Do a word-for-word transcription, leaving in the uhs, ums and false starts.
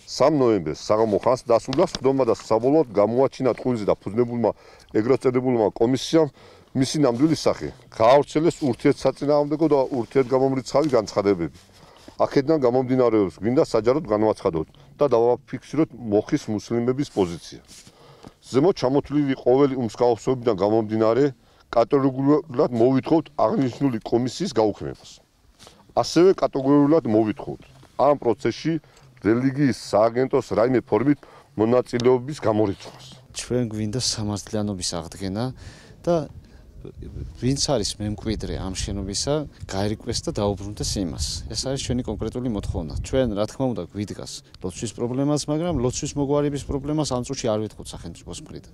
სამ ნოემბერს საღამო ხანს დასრულდა სხდომა და საბოლოოდ გამოაჩინა ტყუილზე და ფუძნებულმა ეგრეთ წოდებულმა კომისიამ მისი ნამდვილი სახე. გაავრცელეს ურთიერთსაწინააღმდეგო და ურთიერთგამომრიცხავი განცხადებები. აქედან გამომდინარეობს გვინდა საჯაროდ განვაცხადოთ და დავაფიქსიროთ მოხის მუსლიმების პოზიცია. ზემოთ ჩამოთვლილი ყოველი უმსხაობსობიდან გამომდინარე კატეგორიულად მოვითხოვთ აღნიშნული კომისიის გაუქმებას. ასევე კატეგორიულად მოვითხოვთ ამ პროცესში რელიგიის სააგენტოს რაიმე ფორმით მონაწილეობის გამორიცხვას. ჩვენ გვინდა სამართლიანობის აღდგენა და ვინც არის მემკვიდრე ამ შენობისა, გაირკვეს და დაუბრუნდეს იმას. ეს არის ჩვენი კონკრეტული მოთხოვნა. ჩვენ რა თქმა უნდა გვიდგას ლოცვის პრობლემას, მაგრამ ლოცვის მოგვარების პრობლემას ამ წუთში არ ვეთხოვთ სახელმწიფოს მხრიდან.